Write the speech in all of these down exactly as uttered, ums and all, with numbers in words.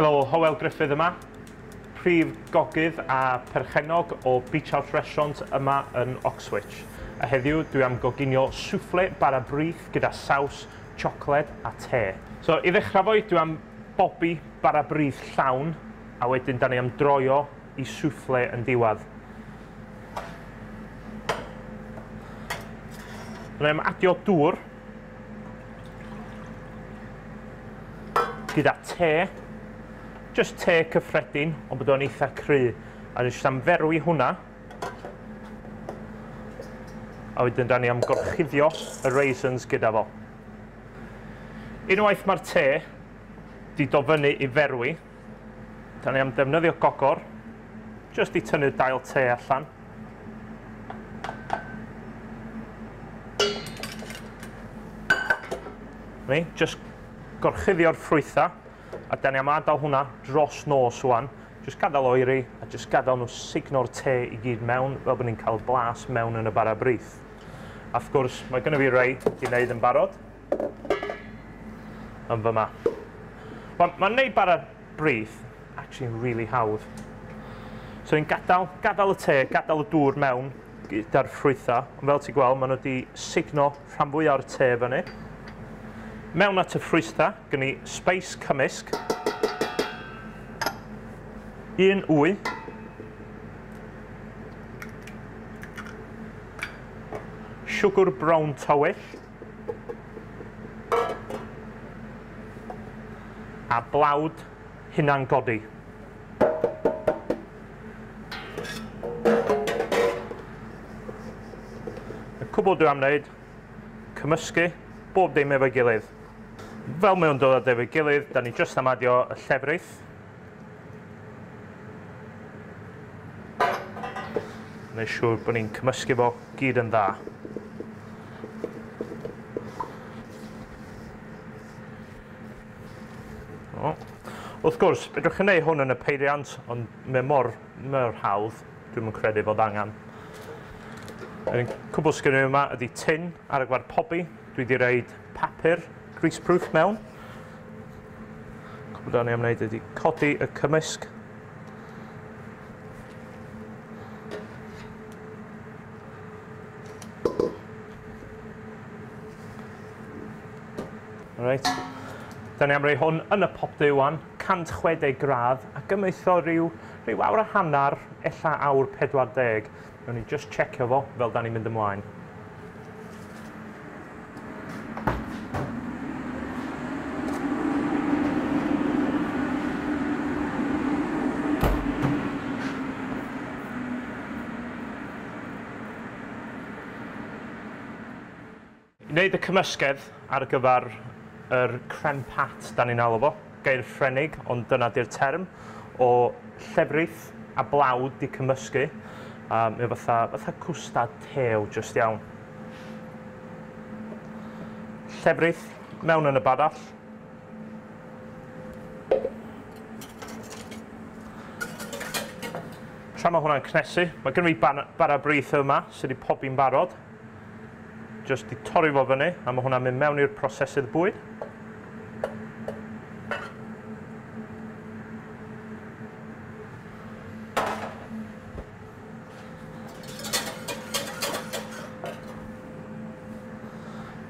Helo, Hywel Gruffydd yma, prif gogydd a perchennog o Beach House Restaurant yma yn Oxwich. A heddiw dwi am goginio soufflé bara brith gyda saws, siocled a te. So i ddechrau fo, dwi am bobi bara brith llawn a wedyn da ni am droio i soufflé yn diwedd. Da ni am adio dŵr gyda te. Just te cyffredin, ond bod o'n eitha cry. A jyst am ferwi hwnna. A wedyn da ni am gorchuddio y raisins gyda fo. Unwaith mae'r te di dod fyny i ferwi, da ni am defnyddio gogor, just i tynnu dail te allan. Ni, just gorchuddio'r ffrwytha. A da ni am adael hwnna dros nos wan. Just gadael oeri a just gadael nhw sugno'r te i gyd mewn, fel bod ni'n cael blas mewn yn y bara brith. A wrth gwrs, mae gynno fi rei i wneud yn barod yn fyma. Mae'n ma wneud bara brith actually yn really hawdd. So ni'n gadael, gadael y te, gadael y dŵr mewn gyda'r ffrwytha. Ond fel ti'n gweld, maen nhw wedi sugno rhan fwyaf o'r te fyny. Mewn at y ffrwytha, gen i spice cymysg, un wy, siwgr brown tywyll, a blawd hunan godi. Y cwbl dwi am wneud, cymysgu bob dim efo'i gilydd. Fel mae o'n dod efo'i gilydd, da ni jyst am adio y llefrith. Gwneud siŵr bod ni'n cymysgu fo gyd yn dda. O. Wrth gwrs, fedrwch chi wneud hwn yn y peiriant, ond mae mor, mor hawdd, dwi'm yn credu fod angen. Yr cwbl sgynno fi yma ydy tin ar y gyfer pobi. Dwi wedi roid papur greaseproof mewn. Cwbl da ni am wneud ydy codi y cymysg. Alright. Da ni am roi hwn yn y popty wan, cant chwe deg gradd, a gymwytho rhyw, rhyw awr a hanner, ella awr pedwar deg. Nawn ni just checio fo fel da ni'n mynd ymlaen. I wneud y cymysgedd ar gyfer yr crème pat da ni'n alw fo, gair Ffrenig, ond dyna di'r term, o llefrith a blawd di cymysgu. Um, mae fatha, fatha cwstad tew just iawn. Llefrith mewn yn y badall. Tra mae hwnna'n cnesu, mae gen i bara brith yma sydd wedi pobi'n barod. Just i torri fo fyny, a mae hwnna'n mynd mewn i'r prosesydd bwyd.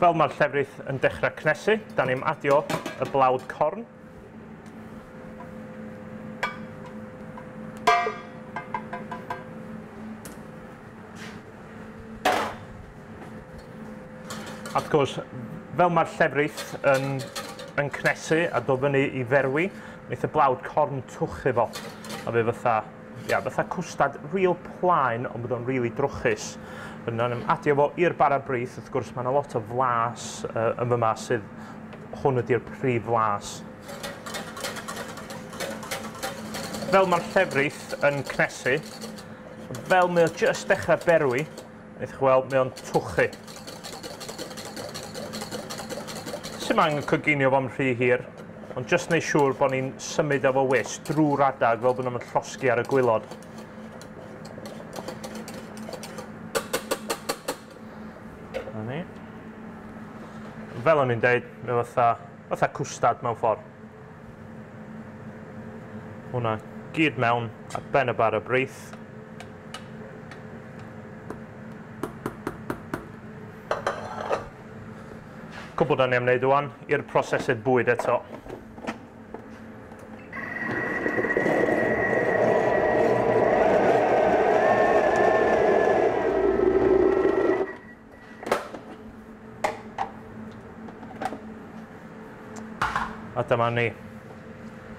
Fel mae'r llefrith yn dechrau cnesu, da ni'n adio y blawd corn. A wrth gwrs, fel mae'r llefrith yn, yn cnesu a dod fyny i ferwi, wneith y blawd corn twchu fo. A fe fatha, ia, fatha cwstad real plaen, ond bod o'n really drwchus. Yna'n adio fo i'r bara brith, wrth gwrs mae yna lot o flas uh, yn fyma sydd hwn ydy'r prif flas. Fel mae'r llefrith yn cnesu, fel mae o just dechrau berwi, wneith chi weld mae o'n twchu. Sim angen coginio fo'n rhy hir, ond jyst wneud siŵr bod ni'n symud efo wis drwy'r adag fel bod nhw'n llosgi ar y gwaelod. Na ni. Fel o'n i'n deud, mae fatha, fatha cwstad mewn ffordd. Hwna gyd mewn ar ben y bara brith. Cwbl da ni am wneud ŵan i'r prosesydd bwyd eto. A dyma ni.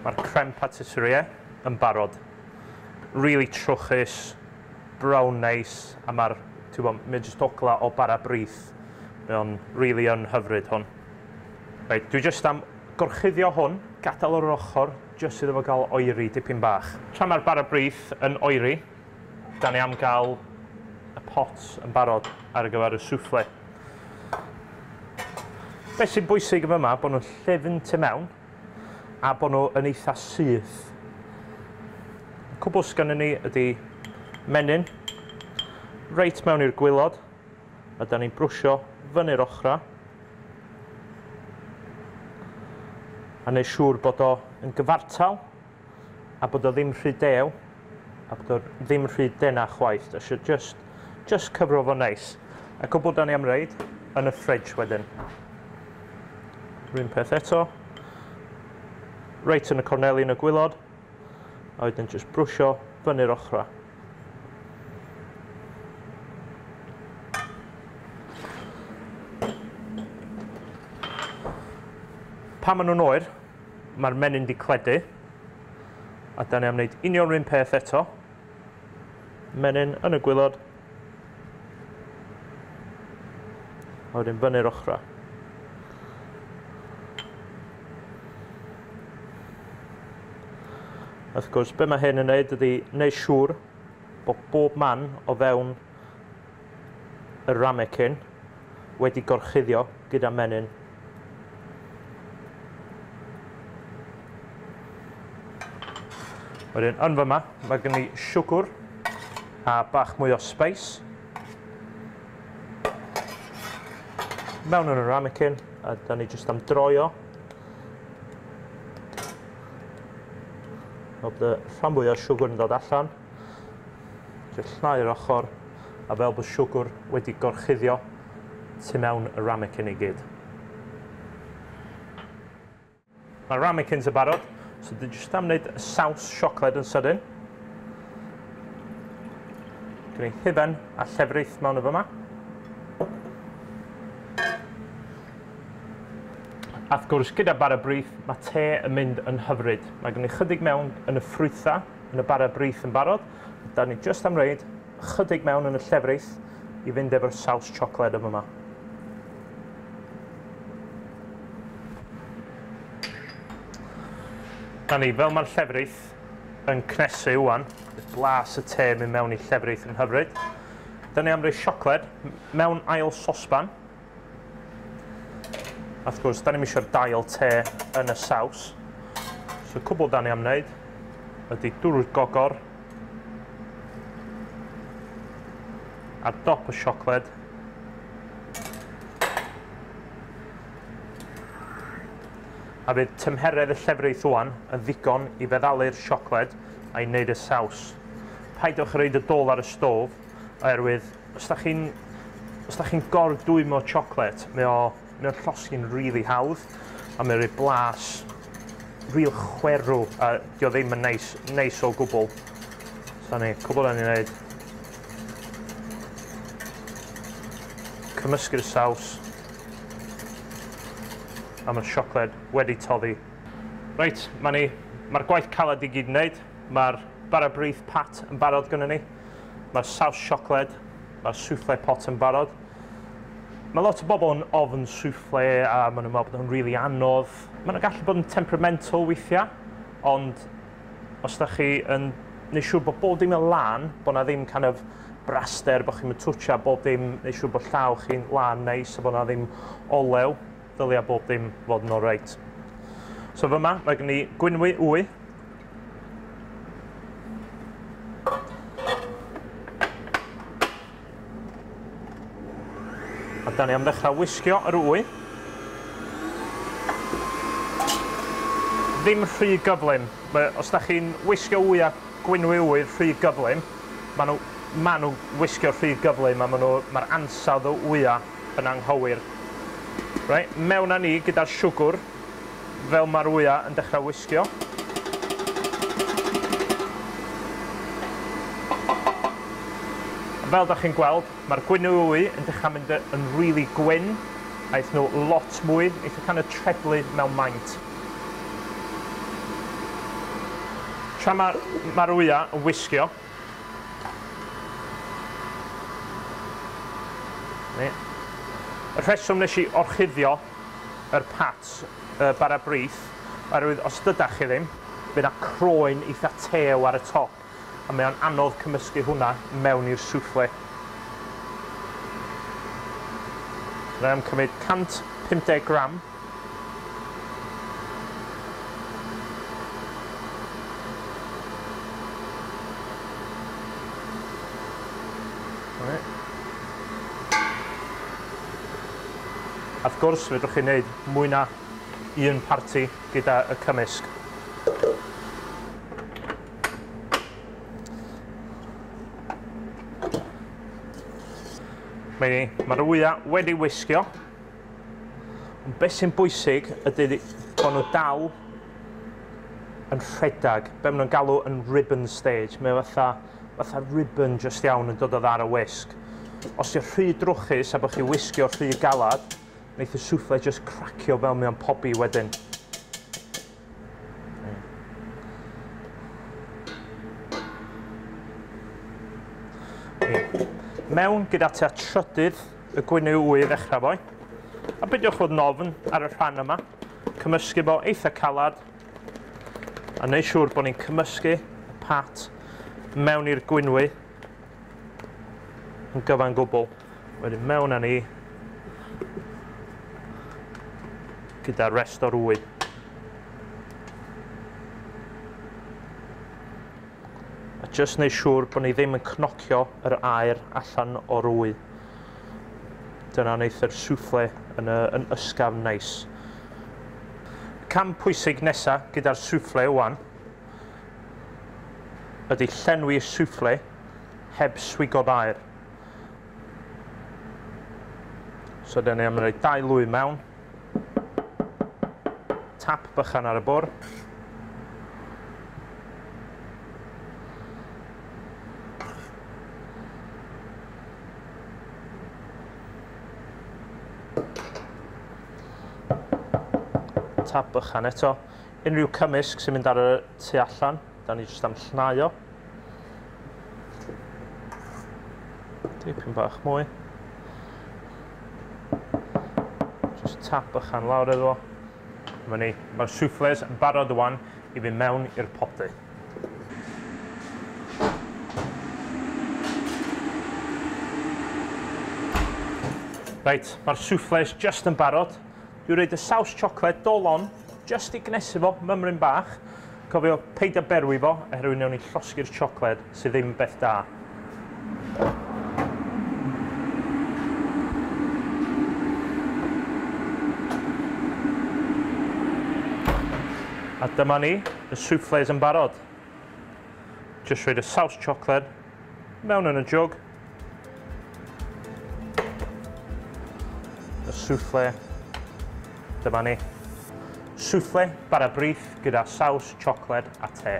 Mae'r crème pâtissière yn barod. Really trwchus, brown nice, a mae'r, ti'n gwybod, mae jyst ogla o bara brith. Mae o'n really yn hyfryd hwn. Reit, dwi jyst am gorchuddio hwn, gadael o'r ochr, jyst iddo fo gael oeri dipyn bach. Tra mae'r bara brith yn oeri, da ni am gael y pot yn barod ar gyfer y soufflé. Beth sy'n bwysig yn yma, bod nhw'n llyfn tu mewn a bod nhw yn eitha syth. Y cwbl sgynnon ni ydy menyn, reit mewn i'r gwaelod, a da ni'n brwsio fyny'r ochra. A neud siŵr bod o yn gyfartal, a bod o ddim rhy dew, a bod o ddim rhy dena chwaith. Da eisiau just, just cyfro fo neis. A cwbl da ni am reid yn y fridge wedyn. Run peth eto, reit yn y corneli yn y gwaelod, a wedyn jyst brwsio fyny'r ochra. Pan maen nhw'n oer, mae'r menyn di cledu, a da ni am wneud union run peth eto. Menyn yn y gwaelod, a wedyn fyny'r ochra. Wrth gwrs, be mae hyn yn wneud ydy wneud siŵr bod bob man o fewn y ramekin wedi gorchuddio gyda menyn. Wedyn, yn fyma, mae gen i siwgr a bach mwy o spice. Mewn yn y ramekin, a da ni jyst am droio. Fel bod y rhan fwyaf o siwgr yn dod allan. Jyst llnau'r ochr, a fel bod siwgr wedi gorchuddio tu mewn y ramekin i gyd. Mae'r ramekins yn barod, so dwi jyst am wneud saws siocled yn sydyn. Gwneud i hufen a llefrith mewn y fyma. A wrth gwrs, gyda bara brith, mae te yn mynd yn hyfryd. Mae gen i chydig mewn yn y ffrwytha, yn y bara brith yn barod. Da ni jyst am reid chydig mewn yn y llefrith i fynd efo'r saws siocled yma. Da ni, fel mae'r llefrith yn cnesu ŵan, blas y te mynd mewn i llefrith yn hyfryd. Da ni am roi siocled mewn ail sosban. A wrth gwrs, da ni'm eisiau'r dail te yn y saws. So cwbl da ni am wneud ydy dŵr gogor ar dop y siocled. A bydd tymheredd y llefrith ŵan yn ddigon i feddalu'r siocled a'i wneud y saws. Paidwch roid y dôl ar y stof, oherwydd os da chi'n os da chi'n gordwymo siocled, mae o mae o'n llosgi'n rili hawdd, a mae'n rhoi blas real chwerw, a dio ddim yn neis, neis o gwbl. So ni, cwbl da ni'n neud. Cymysgu'r saws, a mae'r siocled wedi toddi. Reit, mae ni, mae'r gwaith caled i gyd yn neud. Mae'r bara brith pat yn barod gynnon ni. Mae'r saws siocled, mae'r soufflé pot yn barod. Mae lot o bobl yn ofn soufflé a maen nhw'n meddwl bod nhw'n rili anodd. Maen nhw'n gallu bod yn temperamental weithiau, ond os da chi yn neud siŵr bod bob dim yn lân, bod na ddim kind of braster, bod chi'n twtsio bob dim, neud siŵr bod llaw chi'n lân neis a bod na ddim olew, ddylia bob dim fod yn oreit. So fyma, mae gen i gwynwy wy. A da ni am ddechrau wisgio yr wy. Ddim rhy gyflym. Os da chi'n wisgo wya, gwynwy wy rhy gyflym, maen nhw, ma nhw wisgo rhy gyflym a maen nhw, mae'r ansawdd o wya yn anghywir. Right, mewn â ni gyda'r siwgr, fel mae'r wya yn dechrau wisgo. Fel da chi'n gweld, mae'r gwynwy wy yn dechrau mynd yn really gwyn, a eith nhw lot mwy, eith nhw kind of treblu mewn maint. Tra mae'r ma wya yn wisgio, y rheswm nes i orchuddio yr pat, y bara brith, oherwydd os dydach chi ddim, bydd 'na croen eitha tew ar y top, a mae o'n anodd cymysgu hwnna mewn i'r soufflé. So, am cymryd cant pump deg gram. A wrth gwrs, fedrwch chi wneud mwy na un parti gyda y cymysg. Mae'r wya wedi wisgio. Ond beth sy'n bwysig ydy bod nhw dal yn rhedeg. Be maen nhw'n galw yn ribbon stage. Mae fatha, fatha ribbon just iawn yn dod o ddar y wisg. Os yw'n rhy drwchus a bod chi wisgio rhy galad, wneith y soufflé just cracio fel mewn pobi wedyn. Mewn gyda tua trydydd y gwynwy wy i ddechrau fo. A beidiwch fod yn ofn ar y rhan yma. Cymysgu fo eitha calad. A neud siŵr bod ni'n cymysgu y pat mewn i'r gwynwy yn gyfan gwbl. Wedyn mewn â ni gyda'r rest o'r wy. A jyst neud siŵr bod ni ddim yn cnocio yr aer allan o'r wy. Dyna wneith yr soufflé yn, yn ysgafn neis. Cam pwysig nesaf gyda'r soufflé wan ydy llenwi y soufflé heb swigod aer. So dyna ni am rhoi dau lwy mewn. Tap bychan ar y bwrdd. Tap bychan eto. Unrhyw cymysg sy'n mynd ar y tu allan, da ni jyst am llnau o. Dipyn bach mwy. Just tap bychan lawr iddo fo. Dyma ni, mae'r soufflés yn barod wan i fynd mewn i'r popty. Reit, mae'r soufflés just yn barod. Dwi'n rhoid y saws siocled dolon just i gnesu fo, mymryn bach. Cofio, paid â berwi fo, oherwydd wnawn ni llosgi'r siocled sydd ddim beth da. A dyma ni, y soufflés yn barod. Just rhoid y saws siocled mewn yn y jwg. Y soufflé, dyma ni. Soufflé bara brith gyda saws, siocled a te.